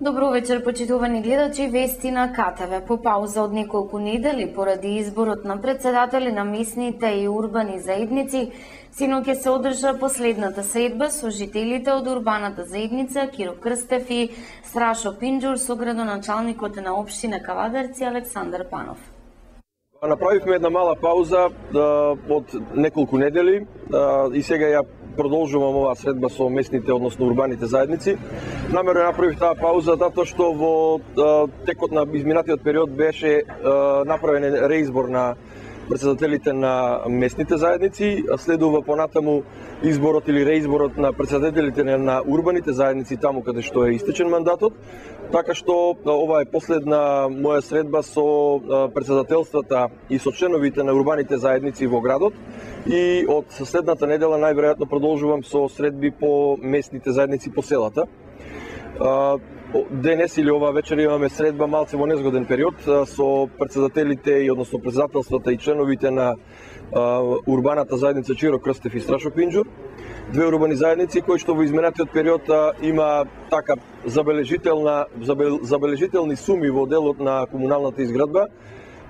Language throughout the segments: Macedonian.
Добро вечер, почитувани гледачи, вести на КТВ. По пауза од неколку недели поради изборот на председатели на местните и урбани заедници, синоќ се одржа последната средба со жителите од урбаната заедница Киро Крстев и Страшо Пинџур со градоначалникот на општина Кавадарци Александар Панов. Направивме една мала пауза од неколку недели и сега ја продолжувам оваа средба со местните, односно урбаните заедници. Намерно направив таа пауза затоа што во текот на изминатиот период беше направен реизбор на председателите на местните заедници, следува понатаму изборот или реизборот на председателите на урбаните заедници таму каде што е истечен мандатот. Така што ова е последна моја средба со председателствата и со членовите на урбаните заедници во градот. И од следната недела најверојатно продолжувам со средби по местните заедници по селата. Денес или ова вечер имаме средба малце во незгоден период со председателите и односно председателствата и членовите на урбаната заедница Киро Крстев и Страшо Пинџур. Две урбани заедници кои што во изминатиот период има така забележителни суми во делот на комуналната изградба.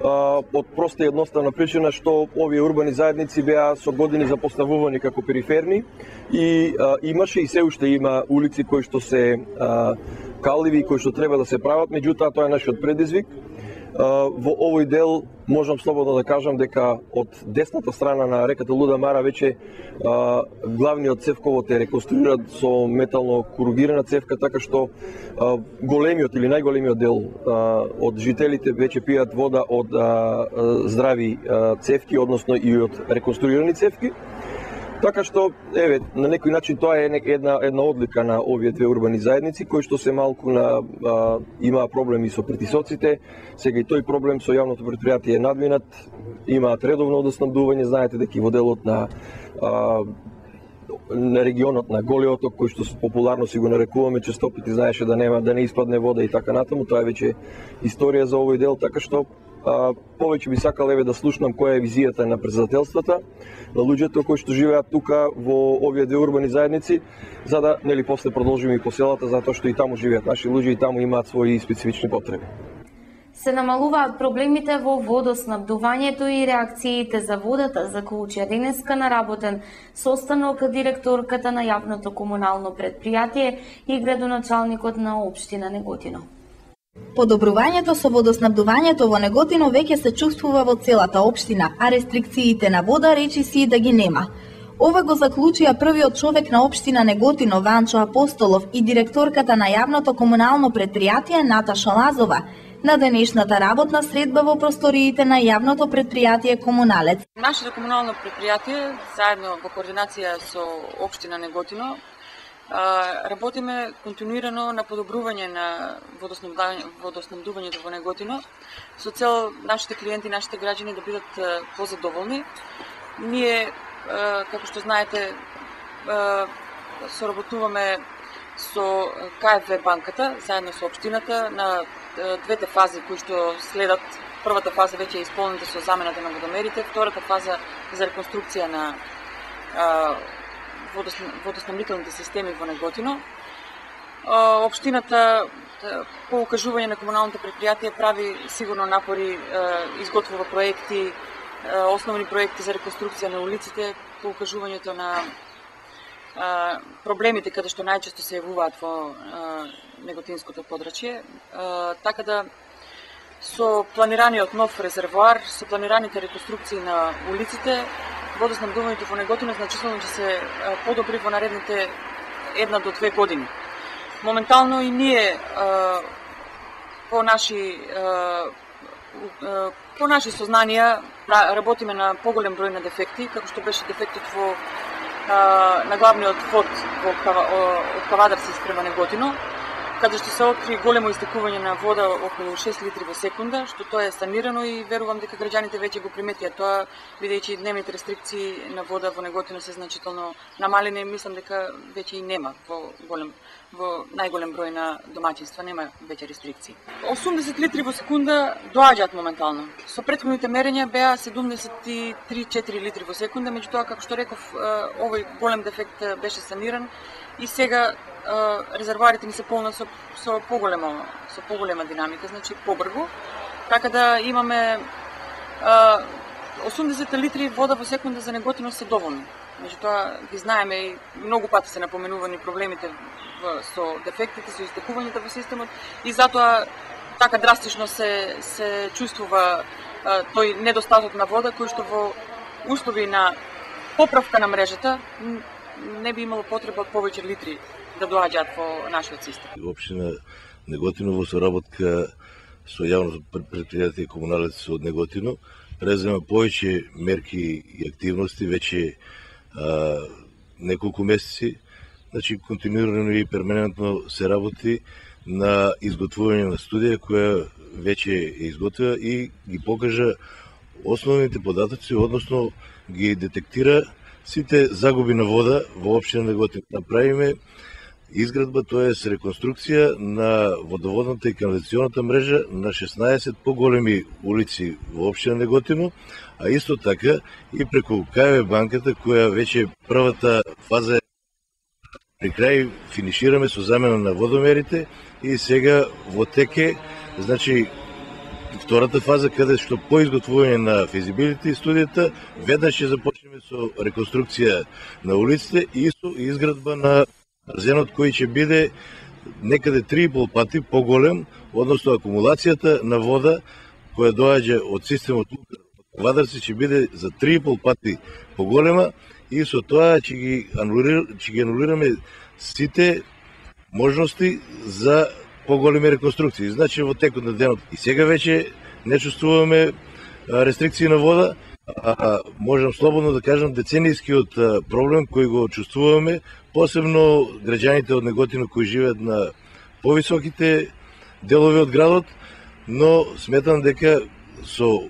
Од проста и едноставна причина што овие урбани заедници беа со години запоставувани како периферни и имаше и се уште има улици кои што се каливи и кои што треба да се прават, меѓутоа тоа е нашиот предизвик. Во овој дел можам слободно да кажам дека од десната страна на реката Луда Мара веќе главниот цевковод е реконструиран со метално коругирана цевка, така што големиот или најголемиот дел од жителите веќе пијат вода од здрави цевки, односно и од реконструирани цевки. Така што, еве, на некој начин тоа е една одлика на овие две урбани заедници, кои што се малку имаа проблеми со притисоците. Сега и тој проблем со јавното претпријатие е надвинат, имаат редовно водоснабдување, знаете дека и во делот на регионот на Голиот оток, кој што популарно си го нарекуваме, честопити знаеше да не испадне вода и така натаму, тоа е веќе историја за овој дел, така што повеќе би сакал да слушнам која е визијата на председателствата, на луѓето кои што живеат тука во овие две урбани заедници, за да после продолжиме и по селата, затоа што и таму живеат наши луѓе и таму имаат своји специфични потреби. Се намалуваат проблемите во водоснабдувањето и реакциите за водата, заклучија денеска наработен состанок директорката на јавното комунално предпријатие и градоначалникот на општина Неготино. Подобрувањето со водоснабдувањето во Неготино веќе се чувствува во целата општина, а рестрикциите на вода речи си да ги нема. Ова го заклучија првиот човек на општина Неготино Ванчо Апостолов и директорката на јавното комунално предпријатие Наташа Лазова на денешната работна средба во просториите на јавното предпријатие Комуналец. Нашето комунално предпријатие, заедно во координација со општина Неготино, работиме континуирано на подобрување на водоснабдувањето во Неготино со цел нашите клиенти, нашите граѓани да бидат позадоволни. Ние, како што знаете, соработуваме со КФВ банката, заедно со општината на двете фази кои што следат. Првата фаза веќе е исполнета со замената на водомерите, втората фаза за реконструкција на водоснабдителните системи во Неготино. Општината по укажување на комуналното предпријатие прави сигурно напори, изготвува проекти, основни проекти за реконструкција на улиците, по укажувањето на проблемите каде што најчесто се јавуваат во неготинското подрачје, така да со планираниот нов резервоар, со планираните реконструкции на улиците, водоснабдувањето во Неготино значително ќе се подобри во наредните 1 до 2 години. Моментално и ние по наши сознанија работиме на поголем број на дефекти, како што беше дефектот на главниот вод од Кавадарци спрема Неготино, каде што се откри големо истекување на вода околу 6 литри во секунда, што тоа е санирано и верувам дека граѓаните веќе го приметија тоа, бидејќи дневните рестрикции на вода во Неготино се значително намалени, мислам дека веќе и нема во најголем број на домаќинства нема веќе рестрикции. 80 литри во секунда доаѓаат моментално. Со претходните мерења беа 73-4 литри во секунда, меѓутоа како што реков, овој голем дефект беше саниран и сега резервоарите ни се полнат со поголема динамика, значи побрзо, така да имаме 80 литри вода во секунда за Неготино се доволни. Меѓутоа ги знаеме и многу пати се напоменувани проблемите со дефектите, со истекувањата во системот и затоа така драстично се чувствува тој недостаток на вода кој што во услови на поправка на мрежата не би имало потреба од повеќе литри да доаѓаат во нашиот систем. Општина Неготино во соработка со јавното предпријатие Комуналец од Неготино презема повеќе мерки и активности веќе неколку месеци. Значи континуирано и перманентно се работи на изготвување на студија која веќе е изготвена и ги покажа основните податоци, односно ги детектира сите загуби на вода во општина Неготино. Направиме изградба, тоест реконструкција на водоводната и канализационата мрежа на 16 поголеми улици во општина Неготино, а исто така и преку КВ банката која веќе првата фаза при крај финишираме со замена на водомерите и сега во теке, значи втората фаза каде што по изготвување на физибилити студијата веднаш ќе започнеме со реконструкција на улиците и со изградба на арзенот кој ќе биде некаде 3,5 пати поголем, односно акумулацијата на вода која доаѓа од системот Кавадарци ќе биде за 3,5 пати поголема и со тоа ќе ги анулираме сите можности за поголеми реконструкции. Значи во текот на денот и сега веќе не чувствуваме рестрикции на вода, можам слободно да кажам деценијскиот проблем кој го чувствуваме, посебно граѓаните од Неготино кои живеат на повисоките делови од градот, но сметам дека со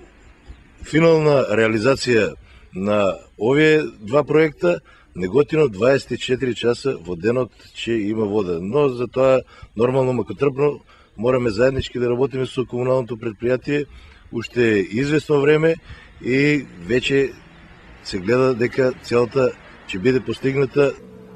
финална реализација на овие два проекта Неготино 24 часа во денот ќе има вода. Но за тоа нормално макотрпно мораме заеднички да работиме со комуналното предпријатие уште известно време и веќе се гледа дека целата ќе биде постигната.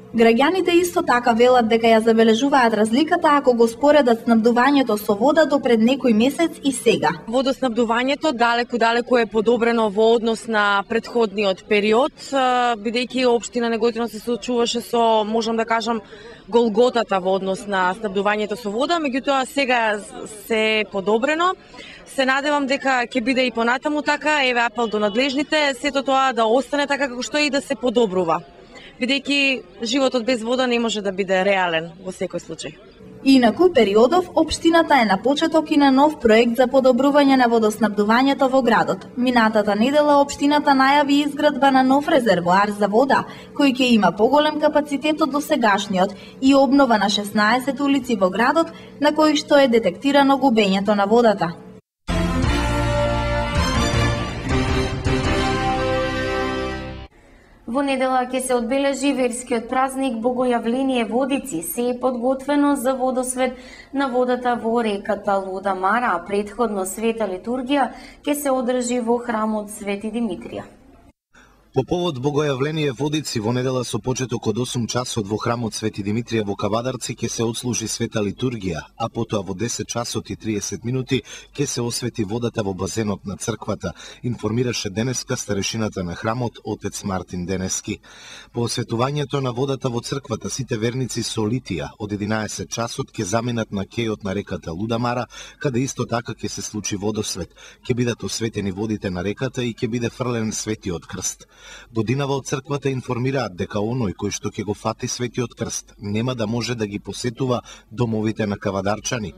Граѓаните исто така велат дека ја забележуваат разликата ако го споредат снабдувањето со вода до пред некој месец и сега. Водоснабдувањето далеку е подобрено во однос на претходниот период, бидејќи општина Неготино се соочуваше со, можам да кажам, голготата во однос на снабдувањето со вода, меѓутоа сега се подобрено. Се надевам дека ќе биде и понатаму така, еве апел до надлежните, сето тоа да остане така како што е и да се подобрува. Бидејќи животот без вода не може да биде реален во секој случај. Инаку периодов општината е на почеток и на нов проект за подобрување на водоснабдувањето во градот. Минатата недела општината најави изградба на нов резервоар за вода, кој ќе има поголем капацитет од досегашниот и обнова на 16 улици во градот на кои што е детектирано губењето на водата. Во недела ќе се одбележи верскиот празник Богојавление Водици. Се е подготвено за водосвет на водата во реката Луда Мара, а претходно света литургија ќе се одржи во храмот Свети Димитрија. По повод Богојавление Водици во недела со почеток од 8 часот во храмот Свети Димитрија во Кавадарци ќе се отслужи света литургија, а потоа во 10 часот и 30 минути ќе се освети водата во базенот на црквата, информираше денеска старешината на храмот отец Мартин Денески. По осветувањето на водата во црквата сите верници со литија од 11 часот ќе заминат на кејот на реката Лудамара, каде исто така ќе се случи водосвет. Ќе бидат осветени водите на реката и ќе биде фрлен светиот крст. Годинава од црквата информираат дека оној кој што ќе го фати светиот крст нема да може да ги посетува домовите на кавадарчани.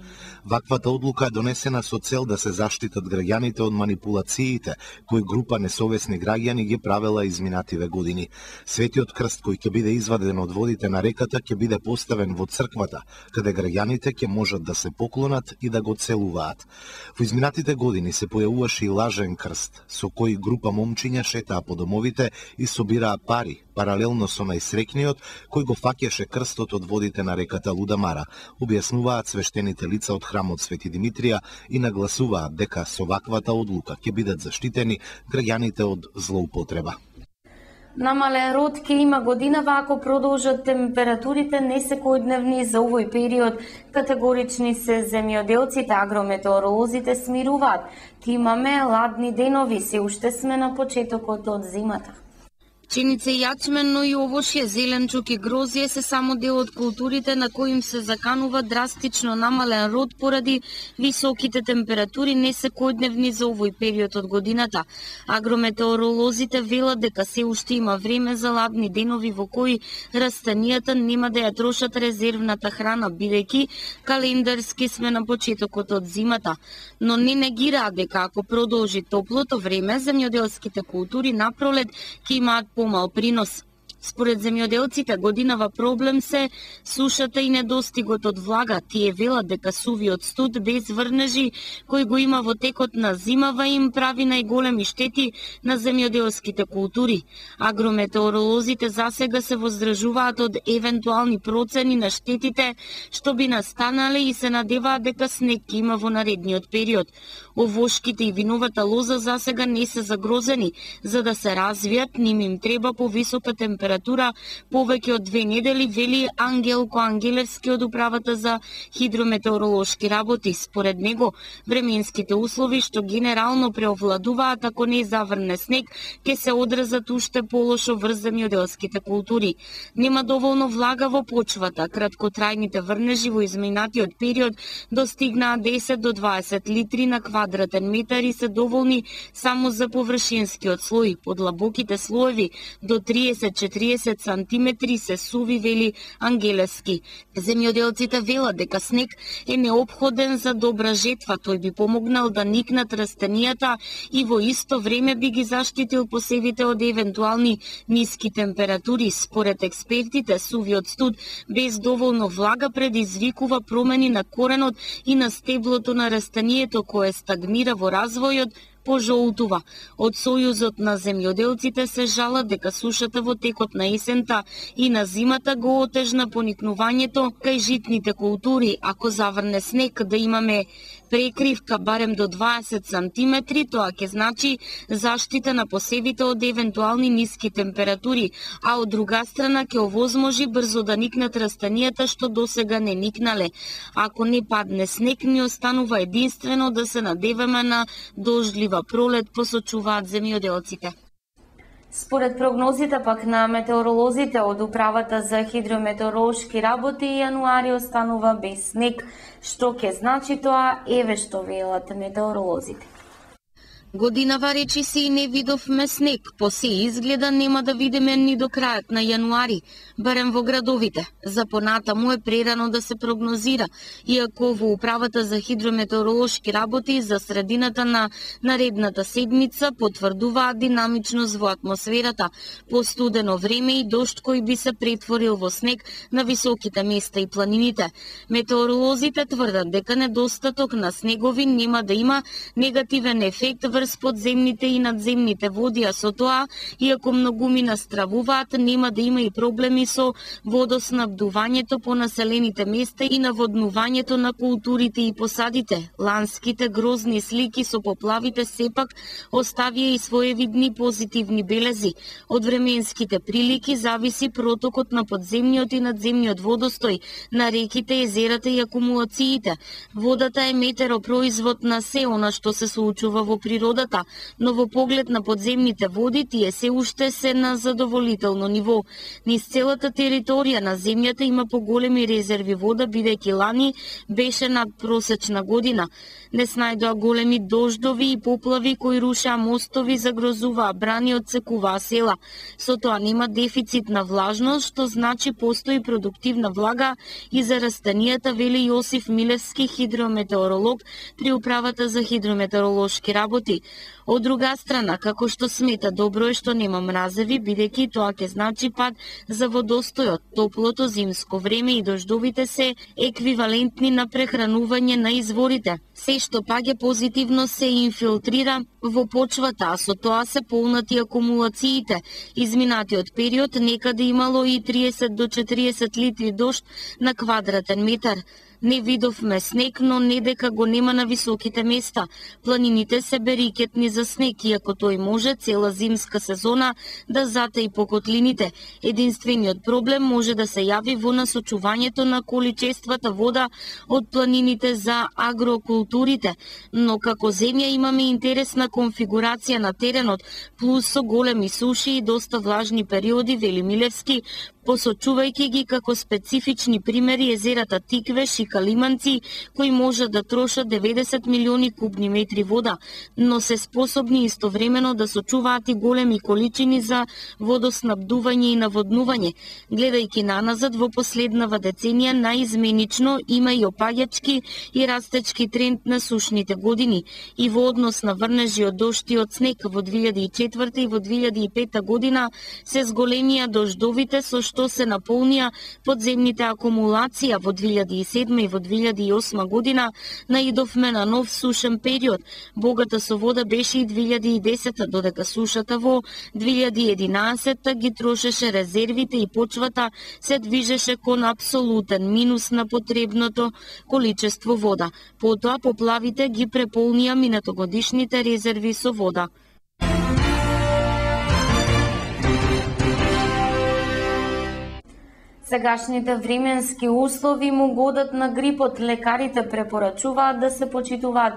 Ваквата одлука е донесена со цел да се заштитат граѓаните од манипулациите кои група несовесни граѓани ги правела изминативе години. Светиот крст кој ќе биде изваден од водите на реката ќе биде поставен во црквата, каде граѓаните ќе можат да се поклонат и да го целуваат. Во изминатите години се појавуваше и лажен крст, со кој група момчиња шетаа по домовите и собираа пари, паралелно со најсрекниот кој го фаќаше крстот од водите на реката Лудамара, објаснуваат свештените лица од храмот Свети Димитрија и нагласуваат дека со ваквата одлука ќе бидат заштитени граѓаните од злоупотреба. Намален род ќе има годинава ако продолжат температурите несекојдневни за овој период. Категорични се земјоделците, агрометеоролозите смируваат. Ке имаме ладни денови, се уште сме на почетокот од зимата. Пшеница и јачмен, но и овошје, зеленчук и грозје се само дел од културите на кои им се заканува драстично намален род поради високите температури несекојдневни за овој период од годината. Агрометеоролозите велат дека се уште има време за ладни денови во кои растанијата нема да ја трошат резервната храна, бидејќи календарски сме на почетокот од зимата. Но не негираат дека ако продолжи топлото време, земјоделските култури на пролет ќе имаат помал принос. Според земјоделците, годинава проблем се сушата и недостигот од влага. Тие велат дека сувиот студ без врнежи кој го има во текот на зимава им прави најголеми штети на земјоделските култури. Агрометеоролозите засега се воздржуваат од евентуални процени на штетите што би настанале и се надеваат дека снег ќе има во наредниот период. Овошките и виновата лоза засега не се загрозени. За да се развијат, ним им треба повисока температура повеќе од 2 недели, вели Ангелко Ангелевски од управата за хидрометеоролошки работи. Според него, временските услови што генерално преовладуваат ако не заврне снег, ќе се одразат уште полошо врз земјоделските култури. Нема доволно влага во почвата. Краткотрајните врнежи во изминатиот период достигнаа 10 до 20 литри на квадратен метар и се доволни само за површинскиот слој. Подлабоките слоеви до 30-40 сантиметри се суви, вели Ангелевски. Земјоделците велат дека снег е неопходен за добра жетва. Тој би помогнал да никнат растанијата и во исто време би ги заштитил посевите од евентуални ниски температури. Според експертите, сувиот студ без доволно влага предизвикува промени на коренот и на стеблото на растанието кое стагнира во развојот, пожолтува. Од Сојузот на земјоделците се жалат дека сушата во текот на есента и на зимата го отежна поникнувањето кај житните култури. Ако заврне снег да имаме прекривка барем до 20 сантиметри, тоа ќе значи заштита на посевите од евентуални ниски температури, а од друга страна ќе овозможи брзо да никнат растанијата што досега не никнале. Ако не падне снег, ни останува единствено да се надеваме на дождлива пролет, посочуваат земјоделците. Според прогнозите пак на метеоролозите од управата за хидрометеоролошки работи, јануари останува без снег. Што ќе значи тоа, еве што велат метеоролозите. Годинава речиси и не видовме снег, по се изгледа нема да видиме ни до крајот на јануари, барем во градовите. За понатаму е прерано да се прогнозира, иако во управата за хидрометеоролошки работи за средината на наредната седмица потврдуваат динамичност во атмосферата, постудено време и дожд кој би се претворил во снег на високите места и планините. Метеоролозите тврдат дека недостаток на снегови нема да има негативен ефект врз подземните и надземните води, а со тоа, иако многумина стравуваат, нема да има и проблеми со водоснабдувањето по населените места и наводнувањето на културите и посадите. Ланските грозни слики со поплавите сепак оставија и своевидни позитивни белези. Од временските прилики зависи протокот на подземниот и надземниот водостој, на реките, езерата и акумулациите. Водата е метеопроизвод на се она што се случува во природата, но во поглед на подземните води тие се уште се на задоволително ниво. Низ целата територија на земјата има поголеми резерви вода, бидејќи лани беше надпросечна година. Не снајдоа големи дождови и поплави кои рушеа мостови, загрозуваа брани, отсекуваа села. Со тоа нема дефицит на влажност, што значи постои продуктивна влага и за растанијата, вели Јосиф Милевски, хидрометеоролог при управата за хидрометеоролошки работи. Од друга страна, како што смета, добро е што нема мразеви, бидејќи тоа ќе значи пад за водостојот. Топлото зимско време и дождовите се еквивалентни на прехранување на изворите. Се што паѓа позитивно се инфилтрира во почвата, а со тоа се полнати акумулациите. Изминатиот период некаде имало и 30 до 40 литри дожд на квадратен метар. Не видовме снег, но не дека го нема на високите места. Планините се берикетни за снег, иако тој може цела зимска сезона да затаи по котлините. Единствениот проблем може да се јави во насочувањето на количествата вода од планините за агрокултурите, но како земја имаме интересна конфигурација на теренот, плюс со големи суши и доста влажни периоди, вели Милевски, посочувајќи ги како специфични примери езерата Тиквеш и Калиманци, кои можат да трошат 90 милиони кубни метри вода, но се способни истовремено да сочуваат и големи количини за водоснабдување и наводнување. Гледајќи наназад во последнава деценија, наизменично има и опаѓачки и растечки тренд на сушните години. И во однос на врнежи од дожди од снег во 2004 и во 2005 година се зголемија дождовите со што се наполнија подземните акумулација. Во 2007 и во 2008 година наидовме на нов сушен период. Богата со вода беше и 2010, додека сушата во 2011 ги трошеше резервите и почвата се движеше кон апсолутен минус на потребното количество вода. Потоа поплавите ги преполнија минатогодишните резерви со вода. Сегашните временски услови му годат на грипот. Лекарите препорачуваат да се почитуваат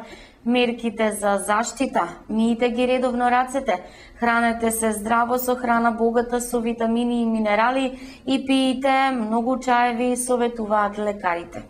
мерките за заштита. Миете ги редовно рацете, хранете се здраво со храна богата со витамини и минерали и пиете многу чаеви, советуваат лекарите.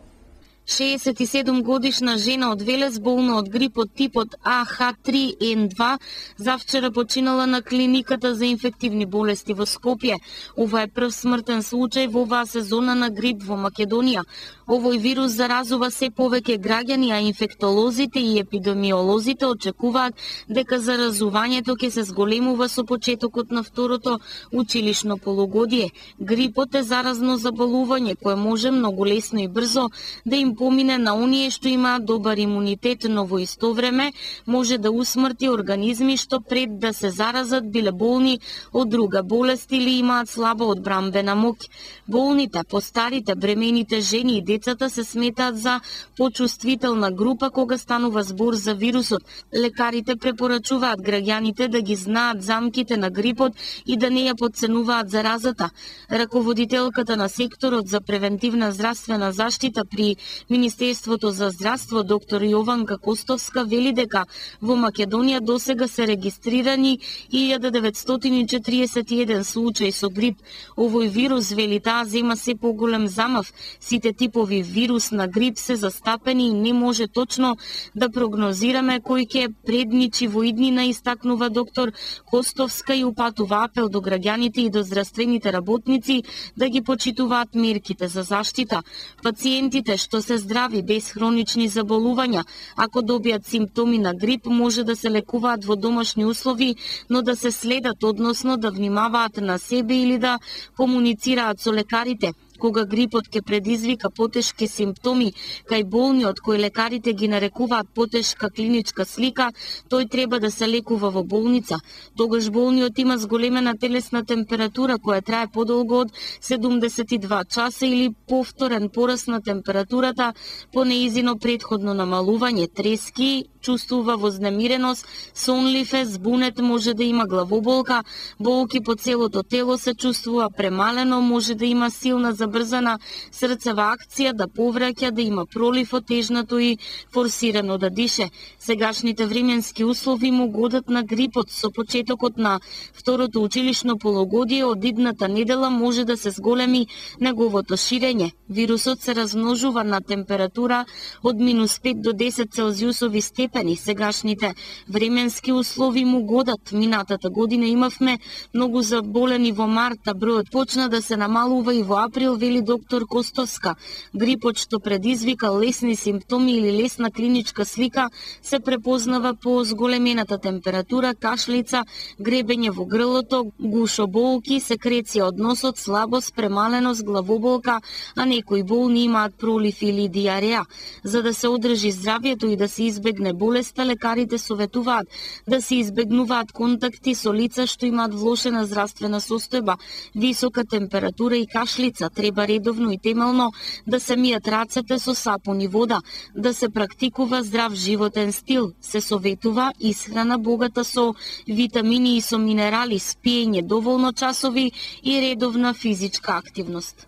67 годишна жена од Велес, болна од грип од типот AH3N2, завчера починала на клиниката за инфективни болести во Скопје. Ова е прв смртен случај во оваа сезона на грип во Македонија. Овој вирус заразува се повеќе граѓани, а инфектолозите и епидемиолозите очекуваат дека заразувањето ќе се зголемува со почетокот на второто училишно полугодие. Грипот е заразно заболување кое може многу лесно и брзо да им помине на оние што имаат добар имунитет, но во исто време може да усмрти организми што пред да се заразат биле болни од друга болест или имаат слаба одбрамбена моќ. Болните, постарите, бремените жени и децата се сметаат за почувствителна група кога станува збор за вирусот. Лекарите препорачуваат граѓаните да ги знаат замките на грипот и да не ја потценуваат заразата. Раководителката на секторот за превентивна здравствена заштита при Министерството за здравство, доктор Јованка Костовска, вели дека во Македонија досега се регистрирани 1941 случаи со грип. Овој вирус, вели таа, зема се поголем замав. Сите типови вирус на грип се застапени и не може точно да прогнозираме кој ќе предничи во иднина, истакнува доктор Костовска и упатува апел до граѓаните и до здравствените работници да ги почитуваат мерките за заштита. Пациентите што се здрави без хронични заболувања, ако добијат симптоми на грип, може да се лекуваат во домашни услови, но да се следат, односно да внимаваат на себе или да комуницираат со лекарите. Кога грипот ќе предизвика потешки симптоми кај болниот, кои лекарите ги нарекуваат потешка клиничка слика, тој треба да се лекува во болница. Тогаш болниот има зголемена телесна температура која трае подолго од 72 часа или повторен пораст на температурата по неизино претходно намалување, трески, чувствува вознемиреност, сонлив е, збунет, може да има главоболка, болки по целото тело, се чувствува премалено, може да има силна забрзана срцева акција, да повраќа, да има пролив од тежнато и форсирано да дише. Сегашните временски услови му годат на грипот. Со почетокот на второто училишно полугодие од идната недела може да се зголеми неговото ширење. Вирусот се размножува на температура од -5 до 10 целзиусови степени. Сегашните временски услови му годат. Минатата година имавме многу заболени во марта, бројот почна да се намалува и во април, вели доктор Костовска. Грипот што предизвика лесни симптоми или лесна клиничка слика се препознава по зголемената температура, кашлица, гребење во грлото, гушоболки, секреција од носот, слабост, премаленост, главоболка, а некои болни имаат пролив или диареа. За да се одржи здравјето и да се избегне болеста, лекарите советуваат да се избегнуваат контакти со лица што имаат влошена здравствена состојба, висока температура и кашлица. треба редовно и темелно да се мијат рацете со сапун и вода, да се практикува здрав животен стил, се советува исхрана богата со витамини и со минерали, спиење доволно часови и редовна физичка активност.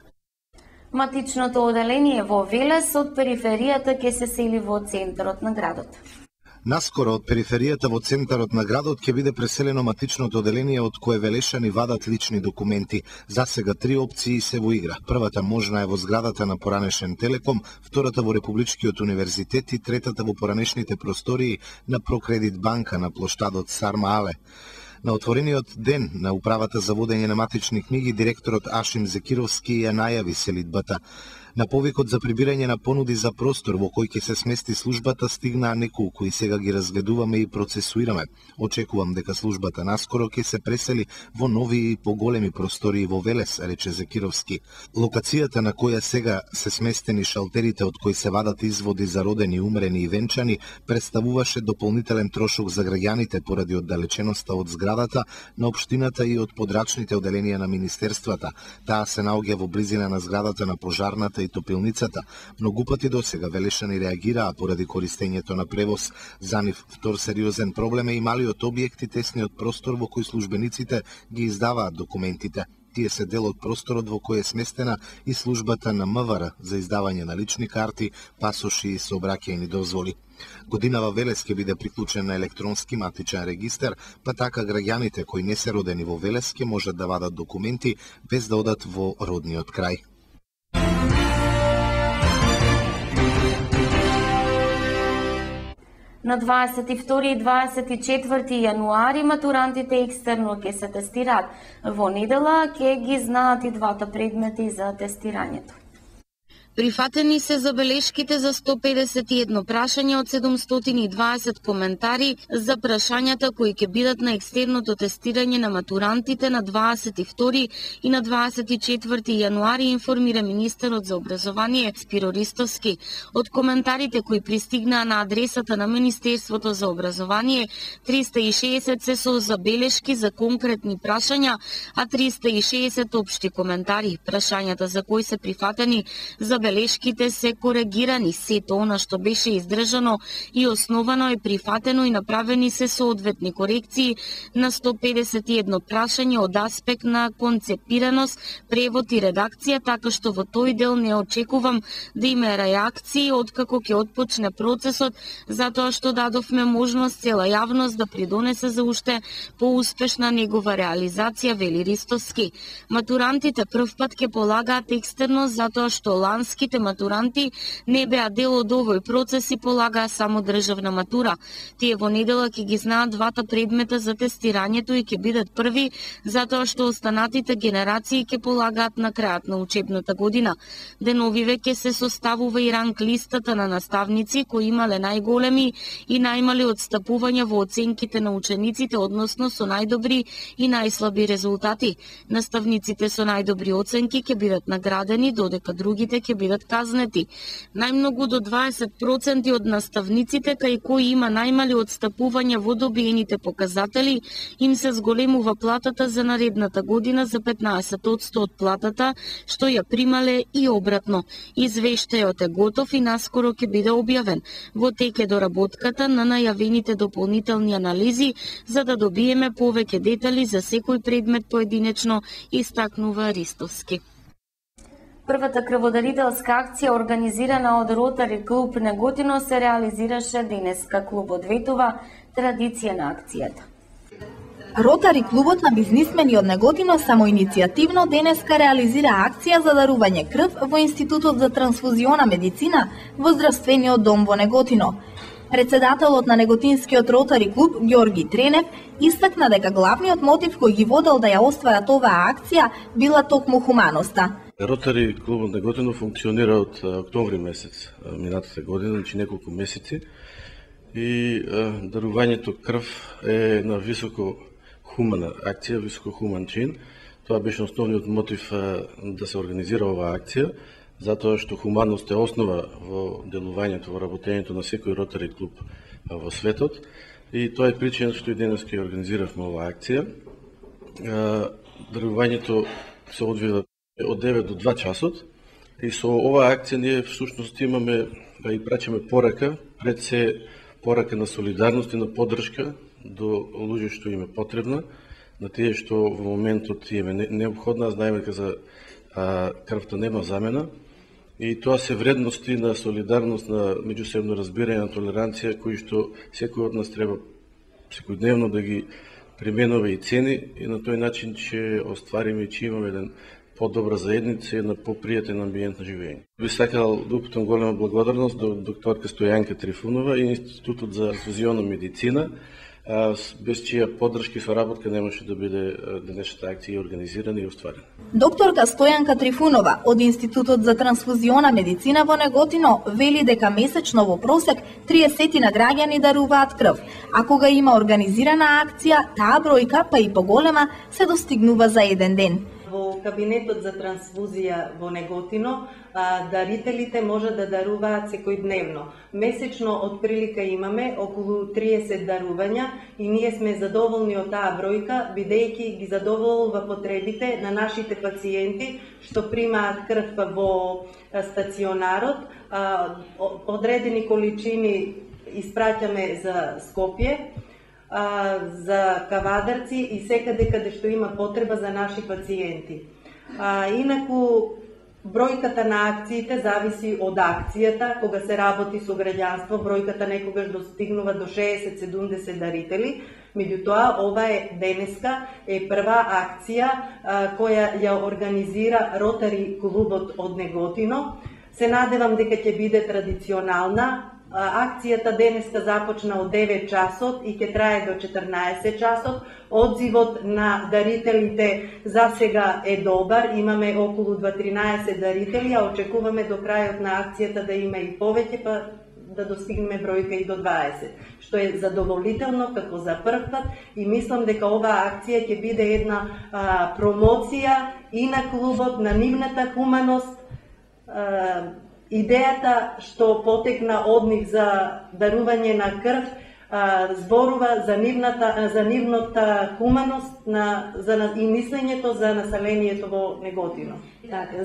Матичното оделение во Велес од периферијата ќе се сели во центарот на градот. Наскоро од периферијата во центарот на градот ќе биде преселено матичното оделение од кое велешани вадат лични документи. За сега 3 опции се во игра. Првата можна е во зградата на поранешен Телеком, втората во Републичкиот универзитет и третата во поранешните простории на Прокредит банка на плоштадот Сарма Але. На отворениот ден на управата за водење на матични книги директорот Ашим Зекировски ја најави селидбата. На повикот за прибирање на понуди за простор во кој ќе се смести службата стигнаа неколку и сега ги разгледуваме и процесуираме. Очекувам дека службата наскоро ќе се пресели во нови и поголеми простории во Велес, рече Зекировски. Локацијата на која сега се сместени шалтерите од кои се вадат изводи за родени, умрени и венчани, представуваше дополнителен трошок за граѓаните поради оддалеченоста од зградата на општината и од подрачните оделенија на министерствата. Таа се наоѓа во близина на зградата на пожарната и топилницата. Многу пати досега велешани реагираа поради користењето на превоз. За нив втор сериозен проблем е и малиот објекти, тесниот простор во кој службениците ги издаваат документите. Тие се дел од просторот во кој е сместена и службата на МВР за издавање на лични карти, пасоши и сообраќајни дозволи. Годинава Велес ќе биде приклучен на електронски матичен регистар, па така граѓаните кои не се родени во Велес ќе можат да вадат документи без да одат во родниот крај. На 22 и 24 јануари матурантите екстерно ќе се тестираат. Во недела ќе ги знаат и двата предмети за тестирањето. Прифатени се забелешките за 151 прашања од 720 коментари за прашањата кои ќе бидат на екстерното тестирање на матурантите на 22 и на 24 јануари, информира министерот за образование Спиро Ристовски. Од коментарите кои пристигнаа на адресата на Министерството за образование, 360 се со забелешки за конкретни прашања, а 360 општи коментари. Прашањата за кои се прифатени забелешките се коригирани, сето она што беше издржано и основано е прифатено и направени се соодветни корекции на 151 прашања од аспект на концепираност, превод и редакција, така што во тој дел не очекувам да има реакции откако ќе отпочне процесот, затоа што дадовме можност цела јавност да придонесе за уште поуспешна негова реализација, вели Ристовски. Матурантите првпат ќе полагаат екстерно затоа што ланските матуранти не беа дел од овој процес и полагаа само државна матура. Тие во недела ќе ги знаат двата предмета за тестирањето и ќе бидат први, затоа што останатите генерации ќе полагаат на крајот на учебната година. Деновиве ќе се составува и ранг листата на наставници кои имале најголеми и најмали отстапувања во оценките на учениците, односно со најдобри и најслаби резултати. Наставниците со најдобри оценки ќе бидат наградени, додека другите ќе бидат казнети. Најмногу до 20% од наставниците кај кои има најмали отстапувања во добиените показатели, им се зголемува платата за наредната година за 15% од платата што ја примале и обратно. Извештајот е готов и наскоро ќе биде објавен. Во тек е доработката на најавените дополнителни анализи за да добиеме повеќе детали за секој предмет поединечно, истакнува Ристовски. Првата крводарителска акција организирана од Ротари клуб Неготино се реализираше денеска. Клубот ветува традиција на акцијата. Ротари клубот на бизнисмени од Неготино самоиницијативно денеска реализира акција за дарување крв во Институтот за трансфузиона медицина во Здравствениот дом во Неготино. Председателот на Неготинскиот Ротари клуб Ѓорги Тренев истакна дека главниот мотив кој ги водел да ја остварат оваа акција била токму хуманоста. Ротари клубот Неготино функционира од октомври месец минатата година, значи неколку месеци, и дарувањето крв е на високо хумана акција, високо хуман чин. Тоа беше основниот мотив да се организира оваа акција, затоа што хуманост е основа во делувањето, во работењето на секој Ротари клуб во светот, и тоа е причина што и денес ќе организиравме оваа акција. Дарувањето се одвива од 9 до 2 часот. И со оваа акција ние всушност имаме и прачаме порака, пред се порака на солидарност и на поддршка до луѓе што им е потребна, на тие што во моментот им е необходна. Знаеме дека за крвта нема замена и тоа се вредности на солидарност, на меѓусебно разбирање, на толеранција, кои што секој од нас треба секојдневно да ги применува и цени, и на тој начин ќе оствариме и ќе имаме еден по-добра заедница и една попријатен амбиент на живење. Би сакал да упатам голема благодарност до докторка Стојанка Трифунова и Институтот за трансфузионна медицина, без чија поддршка и соработка немаше да биде денешната акција организирана и остварена. Докторка Стојанка Трифунова од Институтот за трансфузионна медицина во Неготино вели дека месечно во просек 30 на граѓани даруваат крв, а кога има организирана акција, таа бројка, па и поголема, се достигнува за еден ден. Во кабинетот за трансфузија во Неготино, дарителите може да даруваат секојдневно. Месечно од прилика имаме околу 30 дарувања и ние сме задоволни од таа бројка, бидејќи ги задоволува потребите на нашите пациенти што примаат крв во стационарот. Одредени количини испраќаме за Скопје, за Кавадарци и секаде каде што има потреба за наши пациенти. Инаку, бројката на акциите зависи од акцијата. Кога се работи со граѓанство, бројката некогаш достигнува до 60-70 дарители. Меѓутоа, ова е денеска прва акција која ја организира Ротари клубот од Неготино. Се надевам дека ќе биде традиционална. Акцијата денеска започна од 9 часот и ќе трае до 14 часот. Одзивот на дарителите за сега е добар. Имаме околу 13 дарители, а очекуваме до крајот на акцијата да има и повеќе, па да достигнеме бројка и до 20, што е задоволително како за прв пат и мислам дека оваа акција ќе биде една промоција и на клубот, на нивната хуманост. Идејата што потекна од нив за дарување на крв зборува за нивната хуманост и мислењето за населението во Неготино.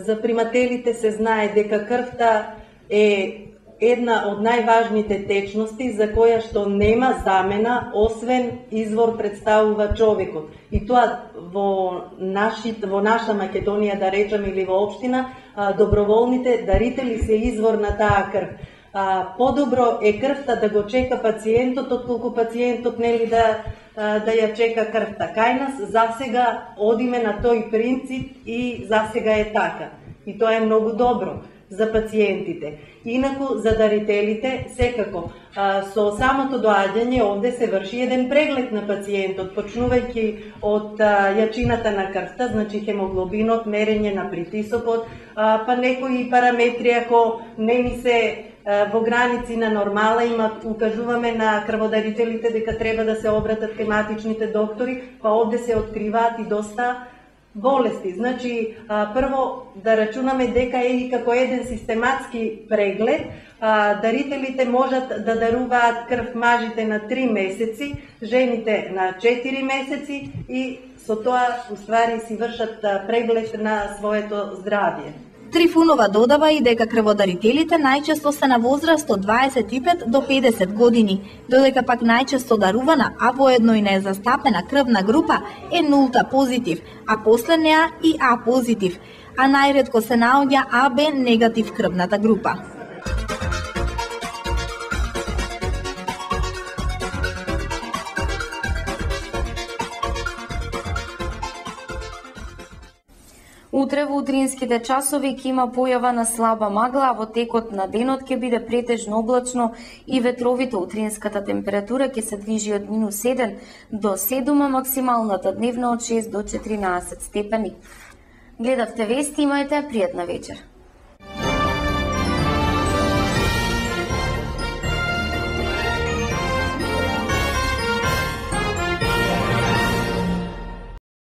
За примателите се знае дека крвта е една од најважните течности за која што нема замена, освен извор представува човекот. И тоа во наша Македонија, да речам, или во општина, доброволните дарители се извор на таа крв. Подобро е крвта да го чека пациентот, отколку пациентот нели да ја чека крвта. Кај нас засега одиме на тој принцип и засега е така. И тоа е многу добро за пациентите. Инаку за дарителите секако со самото доаѓање овде се врши еден преглед на пациентот, почнувајќи од јачината на крвта, значи хемоглобинот, мерење на притисокот, па некои параметри ако не ни се во граници на нормала, укажуваме на крводарителите дека треба да се обратат кај матичните доктори, па овде се откриваат и доста болести. Значи, прво да рачунаме дека е и како еден систематски преглед. Дарителите можат да даруваат крв мажите на 3 месеци, жените на 4 месеци и со тоа уствари си вршат преглед на своето здравје. Трифунова додава и дека крводарителите најчесто се на возраст од 25 до 50 години, додека пак најчесто дарувана, а воедно и незастапена крвна група е нулта позитив, а после неа и А позитив, а најретко се наоѓа АБ негатив крвната група. Утре во утринските часови ќе има појава на слаба магла, а во текот на денот ќе биде претежно облачно и ветровито. Утринската температура ќе се движи од -1 до 7, а максималната дневна од 6 до 14 степени. Гледавте вести, имајте пријатна вечер.